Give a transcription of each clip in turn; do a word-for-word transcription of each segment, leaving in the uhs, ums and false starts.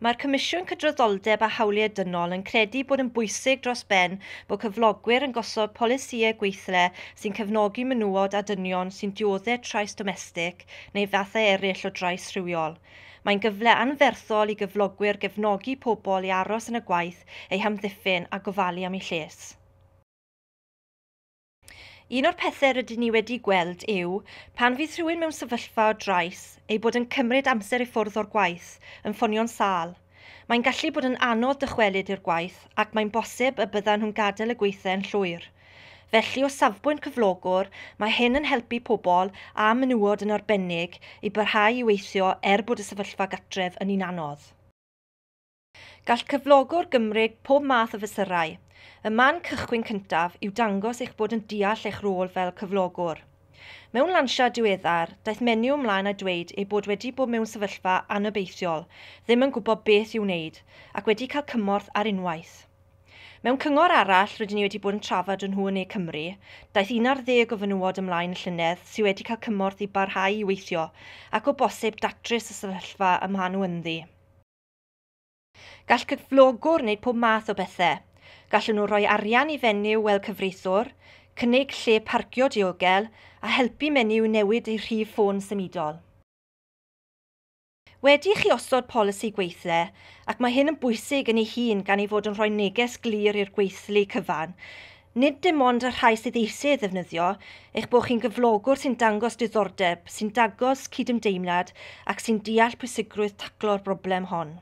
Mae'r Comisiwn Cydraddoldeb a Hawliau Dynol yn credu bod yn bwysig dros ben bod cyflogwyr yn gosod polisïau gweithle sy'n cefnogi menywod a dynion sy'n dioddef trais domestig neu fathau eraill o drais rhywiol. Mae'n gyfle anferthol i gyflogwyr gefnogi pobl i aros yn y gwaith, eu hamddiffyn a gofalu am eu lles. Un o'r pethau rydyn ni wedi gweld yw, pan fydd rhywun mewn sefyllfa o drais, ei bod yn cymryd amser i ffwrdd o'r gwaith, yn ffonio'n sâl. Mae'n gallu bod yn anodd dychwelyd i'r gwaith ac mae'n bosib y byddan nhw'n gadael y gweithle yn llwyr. Felly, o safbwynt cyflogwr, mae hyn yn helpu pobl a menywod yn arbennig i barhau i weithio er bod y sefyllfa gartref yn un anodd. Gall cyflogwr gymryd pob math o fesurau. Y man cychwyn cyntaf yw dangos eich bod yn deall eich rôl fel cyflogwr. Mewn lansiad diweddar, daeth menyw ymlaen a dweud ei bod wedi bod mewn sefyllfa anobeithiol, ddim yn gwybod beth i'w wneud, ac wedi cael cymorth ar unwaith. Mewn cyngor arall rydyn ni wedi bod yn trafod yn nhw yn Ne Cymru, daeth un ar ddeg o fenywod ymlaen y llynedd sydd wedi cael cymorth i barhau i weithio ac o bosib datrys y sefyllfa y maen nhw ynddi. Gall cyflogwr wneud pob math o bethau. Gallen nhw roi arian i fenyw fel cyfreithiwr, cynnig lle parcio diogel a helpu menyw newid ei rhif ffôn symudol. Wedi i chi osod polisi gweithle, ac mae hyn yn bwysig yn ei hun gan ei fod yn rhoi neges glir i'r gweithlu cyfan, nid dim ond y rhai sydd eisiau ddefnyddio, eich bod chi'n gyflogwr sy'n dangos diddordeb, sy'n dangos cydymdeimlad ac sy'n deall pwysigrwydd taclo'r broblem hon.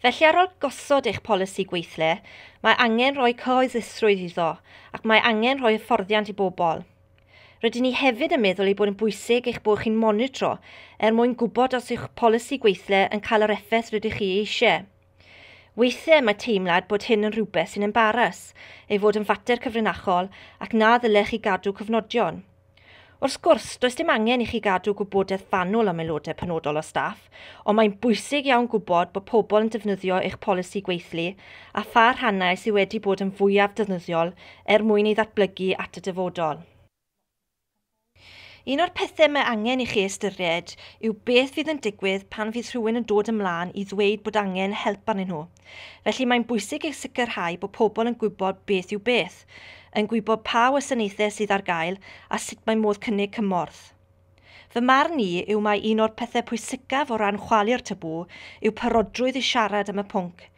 Felly ar ôl gosod eich polisi gweithle, mae angen rhoi cyhoeddusrwydd iddo ac mae angen rhoi hyfforddiant i bobl. Rydyn ni hefyd yn meddwl ei bod yn bwysig eich bod chi'n monitro er mwyn gwybod os yw'ch polisi gweithle yn cael yr effaith rydych chi eisiau. Weithiau mae teimlad bod hyn yn rhywbeth sy'n embaras, ei fod yn fater cyfrinachol ac na ddylech chi gadw cofnodion. Wrth gwrs, does dim angen i chi gadw gwybodaeth fanwl am aelodau penodol o staff, ond mae'n bwysig iawn gwybod bod pobl yn defnyddio eich polisi gweithlu a pha rhannau sydd wedi bod yn fwyaf defnyddiol er mwyn ei ddatblygu at y dyfodol. Un o'r pethau mae angen i chi ystyried yw beth fydd yn digwydd pan fydd rhywun yn dod ymlaen i ddweud bod angen help arnyn nhw. Felly mae'n bwysig eich sicrhau bod pobl yn gwybod beth yw beth, yn gwybod pa wasanaethau sydd ar gael a sut mae modd cynnig cymorth. Fy marn i yw mai un o'r pethau pwysicaf o ran chwalu'r tabŵ yw parodrwydd i siarad am y pwnc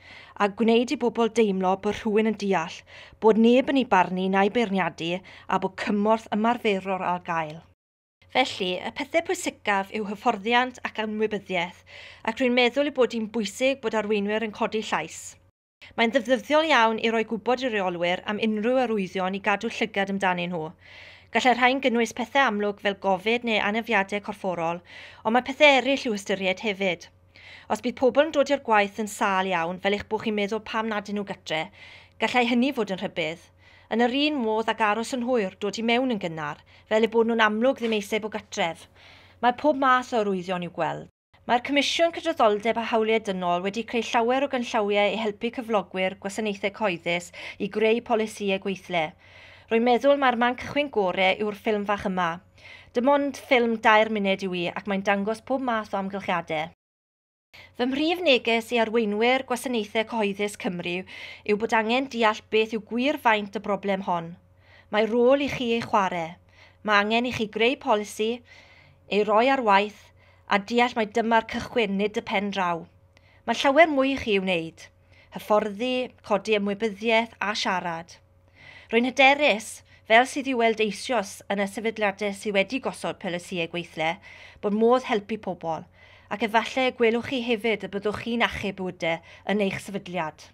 a gwneud i bobl deimlo bod rhywun yn deall, bod neb yn ei barnu na'i beirniadu a bod cymorth ymarferol ar gael. Felly, y pethau pwysicaf yw hyfforddiant ac ymwybyddiaeth, ac rwy'n meddwl ei bod hi'n bwysig bod arweinwyr yn codi llais. Mae'n ddefnyddiol iawn i roi gwybod i reolwyr am unrhyw arwyddion i gadw llygad amdanyn nhw. Gallai rhain gynnwys pethau amlwg fel gofid neu anafiadau corfforol, ond mae pethau eraill i'w ystyried hefyd. Os bydd pobl yn dod i'r gwaith yn sâl iawn, fel eich bod chi'n meddwl pam nad ydyn nhw gytre, gallai hynny fod yn rhybudd. Yn yr un modd ag aros yn hwyr, dod i mewn yn gynnar, fel eu bod nhw'n amlwg ddim eisiau bod gartref. Mae pob math o arwyddion i'w gweld. Mae'r Comisiwn Cydraddoldeb a Hawliau Dynol wedi creu llawer o gynllawiau i helpu cyflogwyr gwasanaethau cyhoeddus i greu polisïau gweithle. Rwy'n meddwl mai'r man cychwyn gorau yw'r ffilm fach yma. Dim ond ffilm dair munud yw hi ac mae'n dangos pob math o amgylchiadau. Fy mhrif neges i arweinwyr gwasanaethau cyhoeddus Cymru yw bod angen deall beth yw gwir faint y broblem hon. Mae rôl i chi ei chwarae. Mae angen i chi greu polisi, ei roi ar waith, a deall mai dyma'r cychwyn, nid y pen draw. Mae llawer mwy i chi i'w wneud. Hyfforddi, codi ymwybyddiaeth a siarad. Rwy'n hyderus, fel sydd i'w weld eisoes yn y sefydliadau sydd wedi gosod polisïau gweithle, bod modd helpu pobl, ac efallai y gwelwch chi hefyd y byddwch chi'n achub bywydau yn eich sefydliad.